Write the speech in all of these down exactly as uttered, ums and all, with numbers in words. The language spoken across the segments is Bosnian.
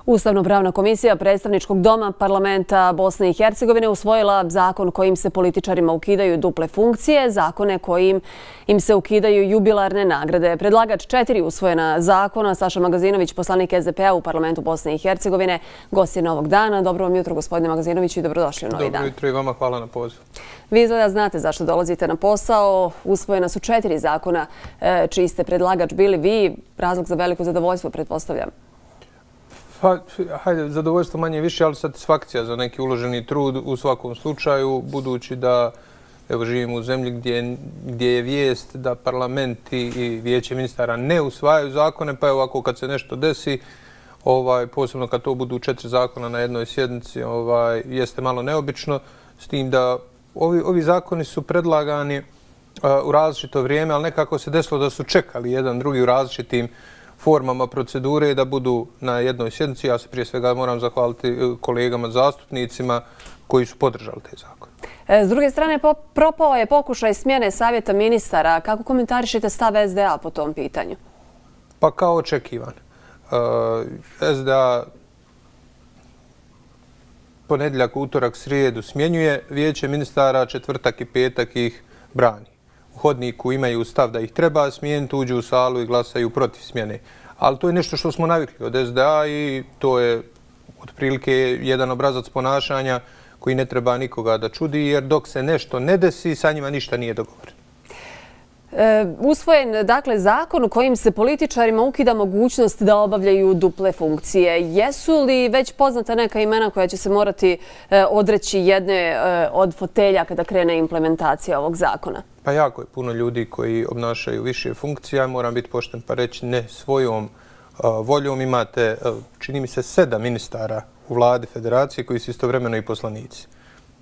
Ustavno-pravna komisija predstavničkog doma parlamenta Bosne i Hercegovine usvojila zakon kojim se političarima ukidaju duple funkcije, zakone kojim im se ukidaju jubilarne nagrade. Predlagač četiri usvojena zakona, Saša Magazinović, poslanik S D P-a u parlamentu Bosne i Hercegovine, gost je Novog dana. Dobro vam jutro, gospodine Magazinoviću, i dobrodošli u Novi dan. Dobro jutro i vama, hvala na pozivu. Vi izgleda znate zašto dolazite na posao. Usvojena su četiri zakona čiji ste predlagač bili vi. Razlog za veliko zadovoljstvo, pretpostavljam. Pa, hajde, zadovoljstvo manje više, ali satisfakcija za neki uloženi trud u svakom slučaju, budući da evo, živimo u zemlji gdje, gdje je vijest da parlamenti i vijeće ministara ne usvajaju zakone, pa evo ovako kad se nešto desi, ovaj, posebno kad to budu četiri zakona na jednoj sjednici, ovaj, jeste malo neobično, s tim da ovi, ovi zakoni su predlagani uh, u različito vrijeme, ali nekako se desilo da su čekali jedan drugi u različitim formama procedure da budu na jednoj sjednici. Ja se prije svega moram zahvaliti kolegama zastupnicima koji su podržali te zakone. S druge strane, propao je pokušaj smjene savjeta ministara. Kako komentarišete stav S D A po tom pitanju? Pa kao očekivan. S D A ponedjeljak, utorak, srijedu smjenjuje vijeće ministara, četvrtak i petak ih brani. U hodniku imaju stav da ih treba smijeniti, uđu u salu i glasaju protiv smjene. Ali to je nešto što smo navikli od S D A i to je otprilike jedan obrazac ponašanja koji ne treba nikoga da čudi, jer dok se nešto ne desi, sa njima ništa nije dogovoreno. E, usvojen, dakle, zakon kojim se političarima ukida mogućnost da obavljaju duple funkcije. Jesu li već poznata neka imena koja će se morati e, odreći jedne e, od fotelja kada krene implementacija ovog zakona? Pa jako je puno ljudi koji obnašaju više funkcija. Moram biti pošten pa reći ne svojom uh, voljom. Imate, uh, čini mi se, sedam ministara u vladi federacije koji su istovremeno i poslanici.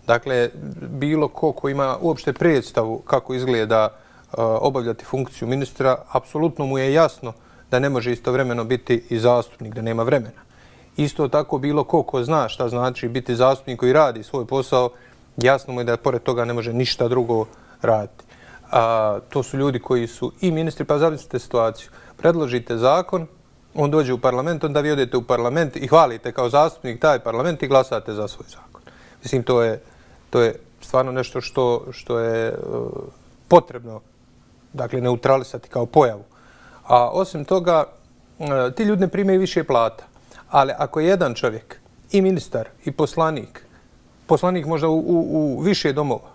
Dakle, bilo ko ko ima uopšte predstavu kako izgleda uh, obavljati funkciju ministra, apsolutno mu je jasno da ne može istovremeno biti i zastupnik, da nema vremena. Isto tako bilo ko ko zna šta znači biti zastupnik koji radi svoj posao, jasno mu je da pored toga ne može ništa drugo raditi. A, to su ljudi koji su i ministri, pa zamislite situaciju. Predložite zakon, on dođe u parlament, onda vi odete u parlament i hvalite kao zastupnik taj parlament i glasate za svoj zakon. Mislim, to je, to je stvarno nešto što, što je uh, potrebno, dakle, neutralisati kao pojavu. A osim toga, uh, ti ljudi ne primaju više plata. Ali ako je jedan čovjek, i ministar, i poslanik, poslanik možda u, u, u više domova,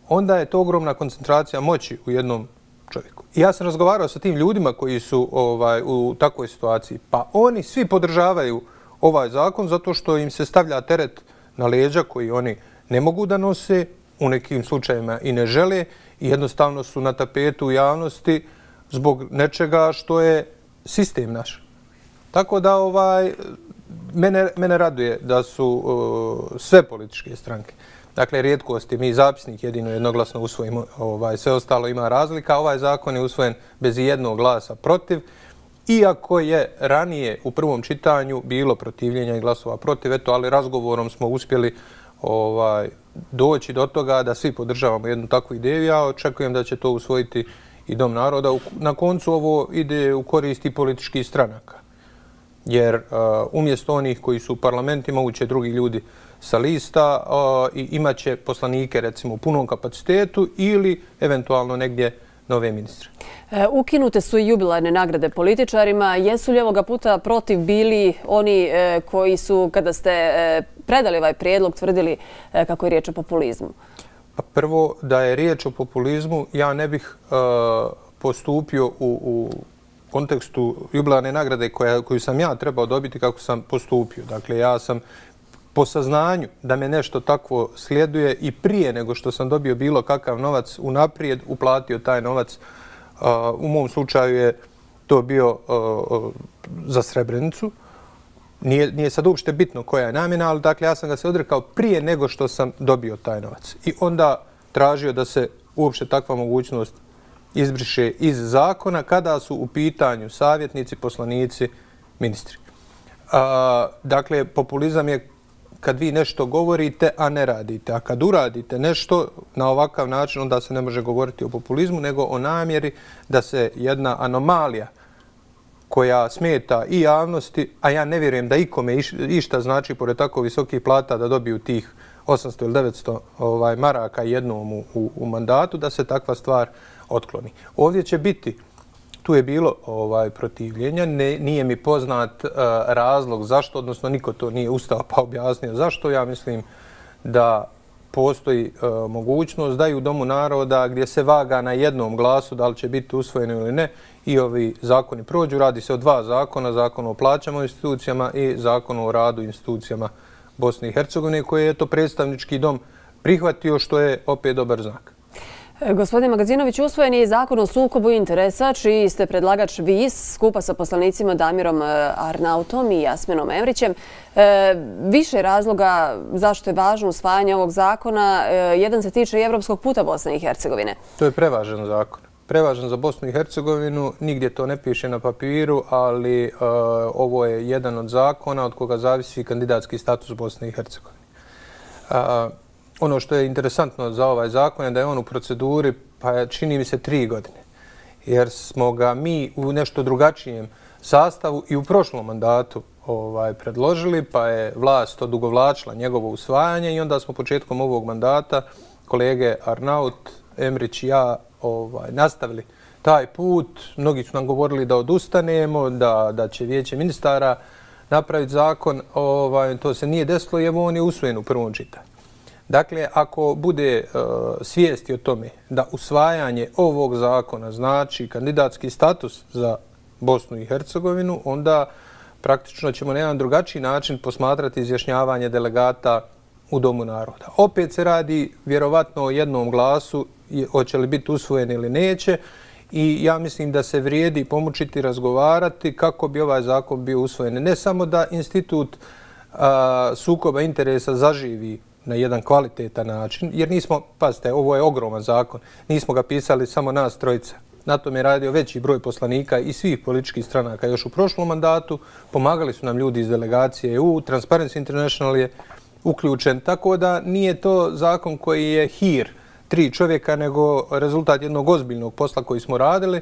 onda je to ogromna koncentracija moći u jednom čovjeku. I ja sam razgovarao sa tim ljudima koji su ovaj, u takvoj situaciji. Pa oni svi podržavaju ovaj zakon zato što im se stavlja teret na leđa koji oni ne mogu da nose, u nekim slučajevima i ne žele, i jednostavno su na tapetu javnosti zbog nečega što je sistem naš. Tako da ovaj, mene, mene raduje da su uh, sve političke stranke, dakle, rijetkost je, mi zapisnik jedino jednoglasno usvojimo, ovaj, sve ostalo ima razlika. Ovaj zakon je usvojen bez jednog glasa protiv, iako je ranije u prvom čitanju bilo protivljenja i glasova protiv, eto, ali razgovorom smo uspjeli ovaj, doći do toga da svi podržavamo jednu takvu ideju. Ja očekujem da će to usvojiti i Dom naroda. Na koncu ovo ide u korist i političkih stranaka, jer uh, umjesto onih koji su u parlamentima uće drugi ljudi sa lista uh, i imat će poslanike recimo u punom kapacitetu ili eventualno negdje nove ministre. E, ukinute su i jubilarne nagrade političarima. Jesu li ovoga puta protiv bili oni e, koji su, kada ste e, predali ovaj prijedlog, tvrdili e, kako je riječ o populizmu? Pa prvo, da je riječ o populizmu, ja ne bih uh, postupio u, u kontekstu jubilarne nagrade koja, koju sam ja trebao dobiti kako sam postupio. Dakle, ja sam po saznanju da me nešto takvo slijeduje i prije nego što sam dobio bilo kakav novac unaprijed, uplatio taj novac. Uh, u mom slučaju je to bio uh, za Srebrenicu. Nije, nije sad uopšte bitno koja je namjena, ali dakle ja sam ga se odrekao prije nego što sam dobio taj novac. I onda tražio da se uopšte takva mogućnost izbriše iz zakona kada su u pitanju savjetnici, poslanici, ministri. A, dakle, populizam je kad vi nešto govorite, a ne radite. A kad uradite nešto na ovakav način, onda se ne može govoriti o populizmu, nego o namjeri da se jedna anomalija koja smeta i javnosti, a ja ne vjerujem da ikome išta znači pored tako visokih plata da dobiju tih osamsto ili devetsto ovaj, maraka jednom u, u, u mandatu, da se takva stvar otkloni. Ovdje će biti, tu je bilo ovaj, protivljenja, ne, nije mi poznat uh, razlog zašto, odnosno niko to nije ustao pa objasnio zašto. Ja mislim da postoji uh, mogućnost da i u Domu naroda gdje se vaga na jednom glasu da li će biti usvojeno ili ne i ovi zakoni prođu. Radi se o dva zakona, zakon o plaćama u institucijama i zakon o radu institucijama Bosne i Hercegovine, koje je to predstavnički dom prihvatio, što je opet dobar znak. Gospodin Magazinović, usvojen je zakon o sukobu interesa, čiji ste predlagač vi skupa sa poslanicima Damirom Arnautom i Jasminom Emrićem. E, više razloga zašto je važno usvajanje ovog zakona. E, jedan se tiče i evropskog puta Bosne i Hercegovine. To je prevažan zakon. Prevažan za Bosnu i Hercegovinu, nigdje to ne piše na papiru, ali e, ovo je jedan od zakona od koga zavisi kandidatski status Bosne i Hercegovine. E, Ono što je interesantno za ovaj zakon je da je on u proceduri, pa čini mi se tri godine. Jer smo ga mi u nešto drugačijem sastavu i u prošlom mandatu ovaj, predložili, pa je vlast odugovlačila njegovo usvajanje i onda smo početkom ovog mandata kolege Arnaut, Emrić i ja ovaj, nastavili taj put. Mnogi su nam govorili da odustanemo, da, da će vijeće ministara napraviti zakon. Ovaj, to se nije desilo i evo on je usvojen u prvom čitanju. Dakle, ako bude uh, svijesti o tome da usvajanje ovog zakona znači kandidatski status za Bosnu i Hercegovinu, onda praktično ćemo na jedan drugačiji način posmatrati izjašnjavanje delegata u Domu naroda. Opet se radi vjerovatno o jednom glasu, hoće li biti usvojen ili neće, i ja mislim da se vrijedi pomučiti razgovarati kako bi ovaj zakon bio usvojen. Ne samo da institut uh, sukoba interesa zaživi na jedan kvalitetan način, jer nismo, pazite, ovo je ogroman zakon, nismo ga pisali samo nas trojica. Na tom je radio veći broj poslanika i svih političkih stranaka još u prošlom mandatu. Pomagali su nam ljudi iz delegacije E U, Transparency International je uključen, tako da nije to zakon koji je hir tri čovjeka, nego rezultat jednog ozbiljnog posla koji smo radili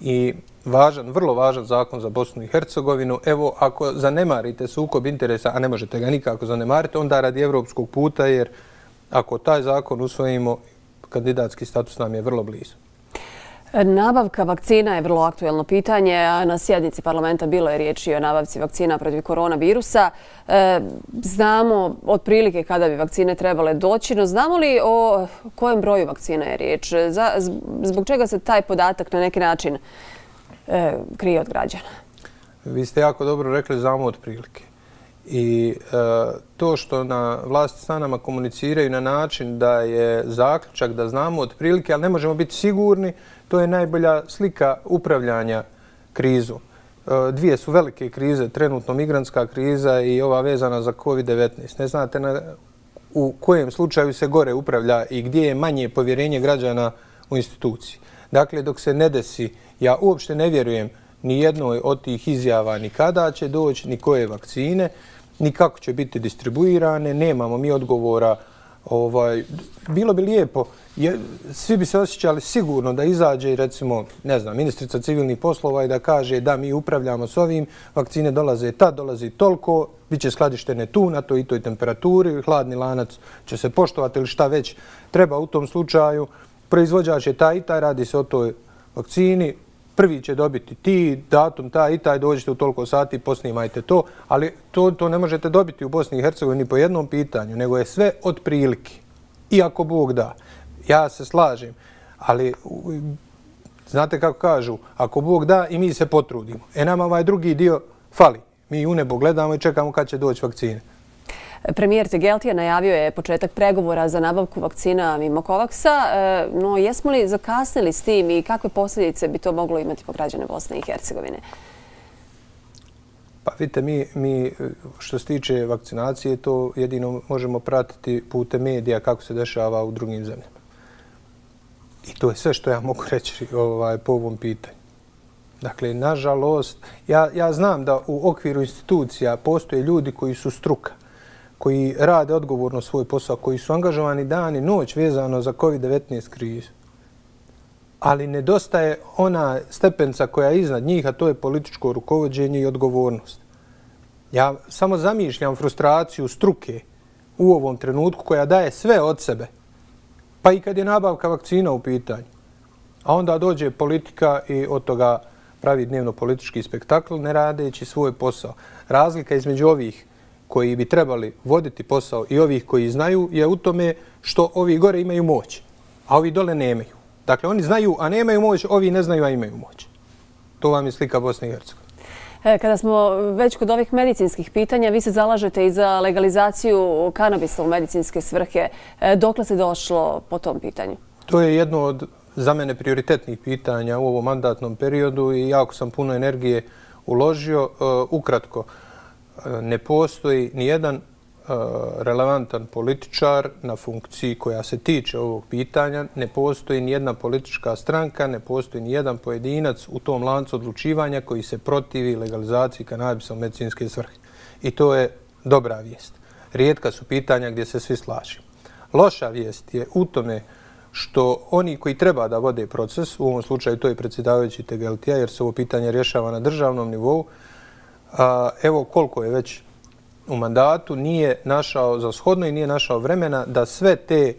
i važan, vrlo važan zakon za Bosnu i Hercegovinu. Evo, ako zanemarite sukob interesa, a ne možete ga nikako zanemariti, onda radi evropskog puta, jer ako taj zakon usvojimo, kandidatski status nam je vrlo blizu. Nabavka vakcina je vrlo aktuelno pitanje, a na sjednici parlamenta bilo je riječi o nabavci vakcina protiv koronavirusa. E, znamo otprilike kada bi vakcine trebale doći, no znamo li o kojem broju vakcina je riječ? Za, zbog čega se taj podatak na neki način e, krije od građana? Vi ste jako dobro rekli, znamo otprilike. I e, to što na vlasti sa nama komuniciraju na način da je zaključak da znamo otprilike, ali ne možemo biti sigurni, to je najbolja slika upravljanja krizu. E, dvije su velike krize, trenutno migrantska kriza i ova vezana za kovid devetnaest. Ne znate na, u kojem slučaju se gore upravlja i gdje je manje povjerenje građana u instituciji. Dakle, dok se ne desi, ja uopšte ne vjerujem ni jednoj od tih izjava ni kada će doći, ni koje vakcine, ni kako će biti distribuirane, nemamo mi odgovora. Ovaj, bilo bi lijepo, je, svi bi se osjećali sigurno da izađe, recimo, ne znam, ministrica civilnih poslova i da kaže da mi upravljamo s ovim, vakcine dolaze tad, dolazi toliko, bit će skladištene tu, na toj i toj temperaturi, hladni lanac će se poštovati ili šta već treba u tom slučaju. Proizvođač je taj i taj, radi se o toj vakcini, prvi će dobiti ti, datum taj i taj, dođete u toliko sati, posnimajte to, ali to, to ne možete dobiti u Bosni i Hercegovini po jednom pitanju, nego je sve od prilike. I ako Bog da, ja se slažem, ali znate kako kažu, ako Bog da i mi se potrudimo. E nama ovaj drugi dio fali. Mi u nebo gledamo i čekamo kad će doći vakcine. Premijer Tegeltija najavio je početak pregovora za nabavku vakcina mimo Kovaksa, no jesmo li zakasnili s tim i kakve posljedice bi to moglo imati po građane Bosne i Hercegovine? Pa vidite, mi, mi što se tiče vakcinacije, to jedino možemo pratiti putem medija kako se dešava u drugim zemljama. I to je sve što ja mogu reći ovaj, po ovom pitanju. Dakle, nažalost, ja, ja znam da u okviru institucija postoje ljudi koji su struka, koji rade odgovorno svoj posao, koji su angažovani dan i noć vezano za kovid devetnaest krizu. ali nedostaje ona stepenca koja je iznad njih, a to je političko rukovođenje i odgovornost. Ja samo zamišljam frustraciju struke u ovom trenutku koja daje sve od sebe, pa i kad je nabavka vakcina u pitanju. A onda dođe politika i od toga pravi dnevno politički spektakl, ne radeći svoj posao. Razlika između ovih koji bi trebali voditi posao i ovih koji znaju je u tome što ovi gore imaju moć, a ovi dole nemaju. Dakle, oni znaju, a nemaju moć, ovi ne znaju, a imaju moć. To vam je slika Bosne i Hercegovine. Kada smo već kod ovih medicinskih pitanja, vi se zalažete i za legalizaciju kanabisa u medicinske svrhe. Dokle se došlo po tom pitanju? To je jedno od za mene prioritetnih pitanja u ovom mandatnom periodu i jako sam puno energije uložio. Ukratko, ne postoji nijedan relevantan političar na funkciji koja se tiče ovog pitanja, ne postoji nijedna politička stranka, ne postoji nijedan pojedinac u tom lancu odlučivanja koji se protivi legalizaciji kanabisa u medicinske svrhe. I to je dobra vijest. Rijetka su pitanja gdje se svi slažemo. Loša vijest je u tome što oni koji treba da vode proces, u ovom slučaju to je predsjedavajući Tegeltija, jer se ovo pitanje rješava na državnom nivou, evo koliko je već u mandatu, nije našao za shodno i nije našao vremena da sve te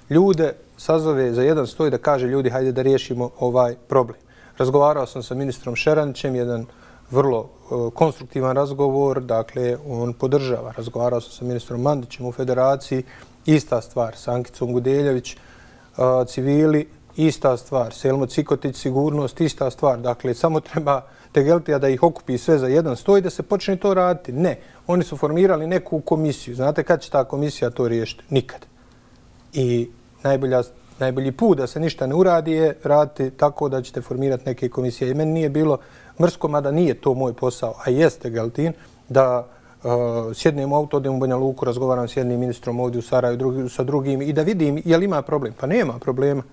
ljude sazove za jedan stoj da kaže ljudi hajde da riješimo ovaj problem. Razgovarao sam sa ministrom Šeranićem, jedan vrlo konstruktivan razgovor, dakle on podržava. Razgovarao sam sa ministrom Mandićem u federaciji, ista stvar, sa Ankicom Gudeljević, civili, ista stvar, Selmo Cikotić, sigurnost, ista stvar. Dakle, samo treba Tegeltija da ih okupi sve za jedan stoj i da se počne to raditi. Ne, oni su formirali neku komisiju. Znate kad će ta komisija to riješiti? Nikad. I najbolja, najbolji put da se ništa ne uradi je raditi tako da ćete formirati neke komisije. I meni nije bilo mrsko, mada nije to moj posao, a jeste Tegeltin, da uh, sjednem u auto, odem u Banja Luku, razgovaram s jednim ministrom ovdje u Sarajevu, drugi, sa drugim i da vidim je li ima problem. Pa nema problema.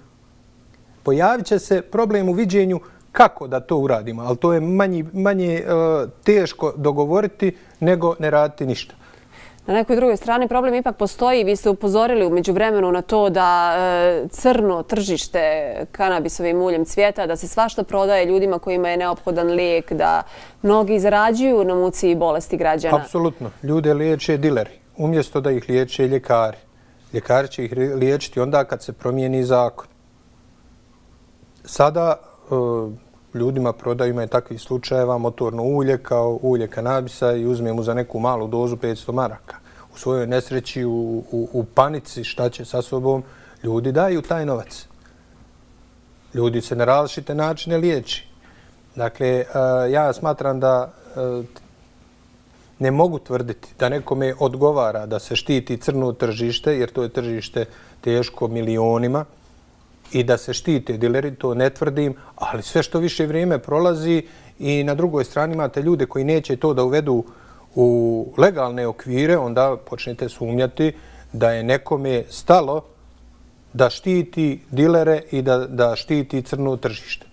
Pojavit će se problem u viđenju kako da to uradimo, ali to je manje, manje uh, teško dogovoriti nego ne raditi ništa. Na nekoj drugoj strani problem ipak postoji. Vi ste upozorili u međuvremenu na to da e, crno tržište kanabisovim uljem cvijeta, da se svašta prodaje ljudima kojima je neophodan lijek, da mnogi zarađuju na muci i bolesti građana. Apsolutno. Ljude liječe dileri, umjesto da ih liječe ljekari. Ljekari će ih liječiti onda kad se promijeni zakon. Sada e, ljudima prodaju, ima je takvih slučajeva, motorno ulje kao ulje kanabisa i uzme mu za neku malu dozu petsto maraka. U svojoj nesreći, u, u, u panici šta će sa sobom, ljudi daju taj novac. Ljudi se na različite načine liječi. Dakle, ja smatram da ne mogu tvrditi da nekome odgovara da se štiti crno tržište, jer to je tržište teško milionima, i da se štite dileri, to ne tvrdim, ali sve što više vrijeme prolazi i na drugoj strani imate ljude koji neće to da uvedu u legalne okvire, onda počnete sumnjati da je nekome stalo da štiti dilere i da, da štiti crno tržište.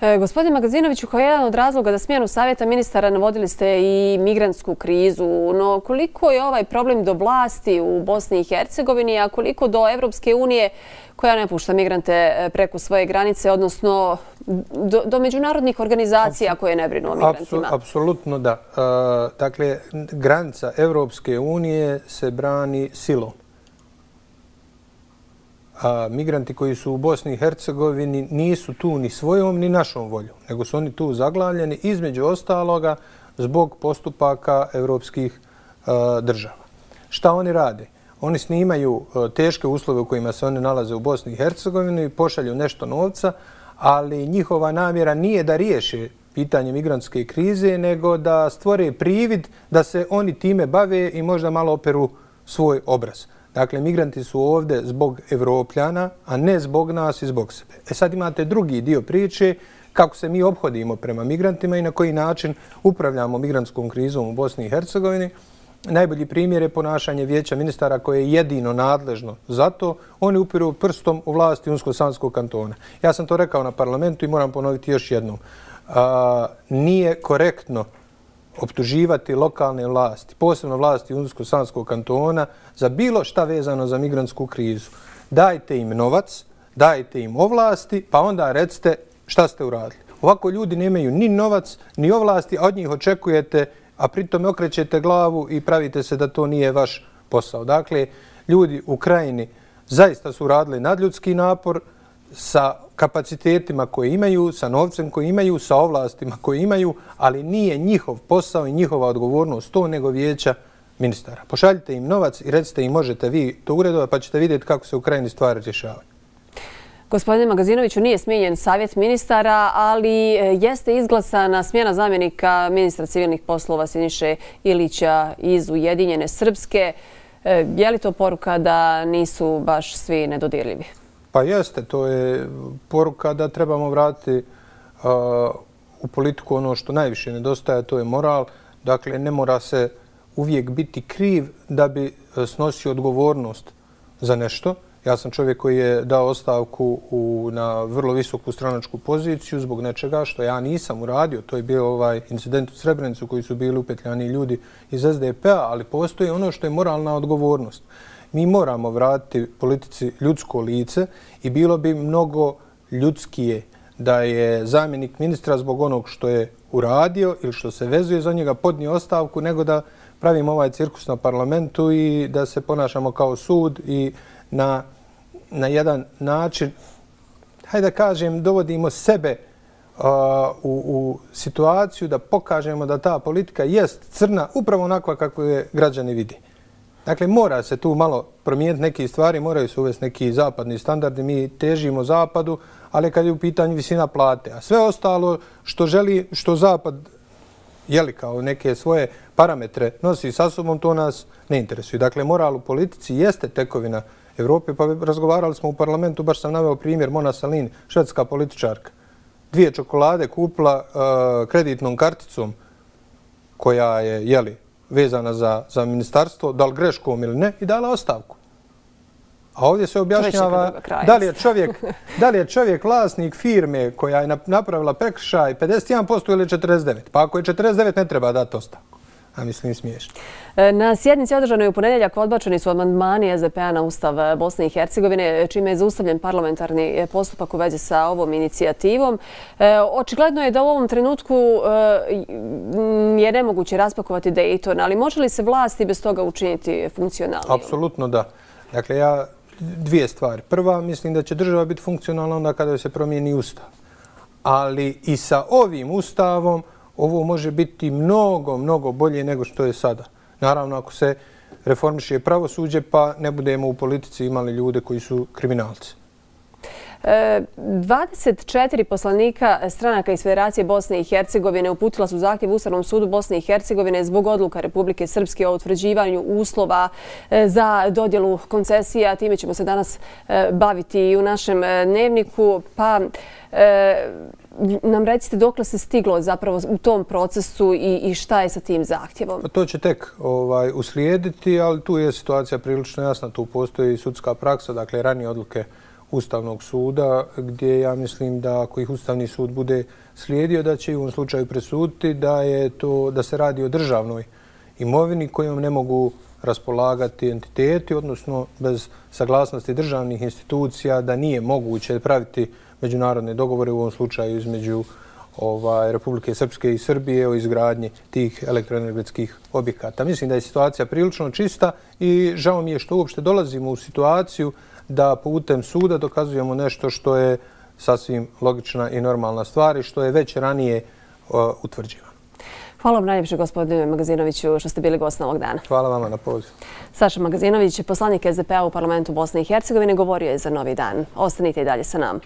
E, gospodin Magazinoviću, kao jedan od razloga da smjenu savjeta ministara navodili ste i migrantsku krizu, no koliko je ovaj problem do vlasti u Bosni i Hercegovini, a koliko do Evropske unije koja ne pušta migrante preko svoje granice, odnosno do, do međunarodnih organizacija koje ne brinu o migrantima? Apsolutno da. E, dakle, granica Evropske unije se brani silom. A migranti koji su u Bosni i Hercegovini nisu tu ni svojom ni našom voljom, nego su oni tu zaglavljeni između ostaloga zbog postupaka evropskih uh, država. Šta oni rade? Oni snimaju uh, teške uslove u kojima se oni nalaze u Bosni i Hercegovini i pošalju nešto novca, ali njihova namjera nije da riješe pitanje migrantske krize, nego da stvore privid da se oni time bave i možda malo operu svoj obraz. Dakle, migranti su ovdje zbog Evropljana, a ne zbog nas i zbog sebe. E sad imate drugi dio priče, kako se mi ophodimo prema migrantima i na koji način upravljamo migrantskom krizom u Bosni i Hercegovini. Najbolji primjer je ponašanje vijeća ministara koje je jedino nadležno za to. Oni upiru prstom u vlasti Unsko-Sanskog kantona. Ja sam to rekao na parlamentu i moram ponoviti još jednom. A, nije korektno optuživati lokalne vlasti, posebno vlasti Unsko-Sanskog kantona, za bilo šta vezano za migrantsku krizu. Dajte im novac, dajte im ovlasti, pa onda recite šta ste uradili. Ovako ljudi nemaju ni novac, ni ovlasti, a od njih očekujete, a pritom okrećete glavu i pravite se da to nije vaš posao. Dakle, ljudi u Krajini zaista su radili nadljudski napor sa kapacitetima koje imaju, sa novcem koji imaju, sa ovlastima koje imaju, ali nije njihov posao i njihova odgovornost to, nego vijeća ministara. Pošaljite im novac i recite im možete vi to uredovati, pa ćete vidjeti kako se u Krajini stvari rješavaju. Gospodine Magazinoviću, nije smijenjen savjet ministara, ali jeste izglasana smjena zamjenika ministra civilnih poslova Siniše Ilića iz Ujedinjene Srpske. Je li to poruka da nisu baš svi nedodirljivi? Pa jeste, to je poruka da trebamo vratiti u politiku ono što najviše nedostaje, to je moral. Dakle, ne mora se uvijek biti kriv da bi snosio odgovornost za nešto. Ja sam čovjek koji je dao ostavku u, na vrlo visoku stranačku poziciju zbog nečega što ja nisam uradio. To je bio ovaj incident u Srebrenicu koji su bili upetljani ljudi iz es de pe a, ali postoji ono što je moralna odgovornost. Mi moramo vratiti politici ljudsko lice i bilo bi mnogo ljudskije da je zamjenik ministra zbog onog što je uradio ili što se vezuje za njega podnio ostavku, nego da pravimo ovaj cirkus na parlamentu i da se ponašamo kao sud i na, na jedan način, hajde da kažem, dovodimo sebe uh, u, u situaciju da pokažemo da ta politika jest crna upravo onakva kako je građani vidi. Dakle, mora se tu malo promijeniti neke stvari, moraju se uvesti neki zapadni standardi. Mi težimo zapadu, ali kad je u pitanju visina plate. A sve ostalo što želi, što zapad jeli kao neke svoje parametre nosi sa sobom, to nas ne interesuje. Dakle, moral u politici jeste tekovina Evrope, pa razgovarali smo u parlamentu, baš sam naveo primjer Mona Sahlin, švedska političarka. Dvije čokolade kupila uh, kreditnom karticom koja je, jeli, vezana za, za ministarstvo, da li greškom ili ne, i dala ostavku. A ovdje se objašnjava da li je čovjek, da li je čovjek vlasnik firme koja je napravila prekršaj pedeset jedan posto ili četrdeset devet posto. Pa ako je četrdeset devet ne treba dati ostavku. A mislim smiješno. Na sjednici održanoj u ponedjeljak odbačeni su amandmani es de pe a na Ustav Bosne i Hercegovine, čime je zaustavljen parlamentarni postupak u vezi sa ovom inicijativom. Očigledno je da u ovom trenutku je nemoguće raspakovati Dayton, ali može li se vlasti bez toga učiniti funkcionalnijom? Apsolutno da. Dakle, ja dvije stvari. Prva, mislim da će država biti funkcionalna onda kada se promijeni Ustav. Ali i sa ovim Ustavom ovo može biti mnogo, mnogo bolje nego što je sada. Naravno, ako se reformiše pravosuđe, pa ne budemo u politici imali ljude koji su kriminalci. dvadeset četiri poslanika stranaka iz Federacije Bosne i Hercegovine uputila su zahtjev Ustavnom sudu Bosne i Hercegovine zbog odluka Republike Srpske o utvrđivanju uslova za dodjelu koncesija. Time ćemo se danas baviti i u našem dnevniku. Pa nam recite dokle se stiglo zapravo u tom procesu i, i šta je sa tim zahtjevom? Pa to će tek ovaj, uslijediti, ali tu je situacija prilično jasna. Tu postoji sudska praksa, dakle ranije odluke Ustavnog suda, gdje ja mislim da ako ih Ustavni sud bude slijedio, da će i u ovom slučaju presuditi da, je to, da se radi o državnoj imovini kojom ne mogu raspolagati entiteti, odnosno bez saglasnosti državnih institucija, da nije moguće praviti međunarodne dogovore u ovom slučaju između ovaj, Republike Srpske i Srbije o izgradnji tih elektroenergetskih objekata. Mislim da je situacija prilično čista i žao mi je što uopšte dolazimo u situaciju da putem suda dokazujemo nešto što je sasvim logična i normalna stvar i što je već ranije uh, utvrđivano. Hvala vam najljepše, gospodine Magazinoviću, što ste bili gost ovog dana. Hvala vama na pozivu. Saša Magazinović, poslanik es de pe a u parlamentu Bosne i Hercegovine, govorio je za Novi dan. Ostanite i dalje sa nama.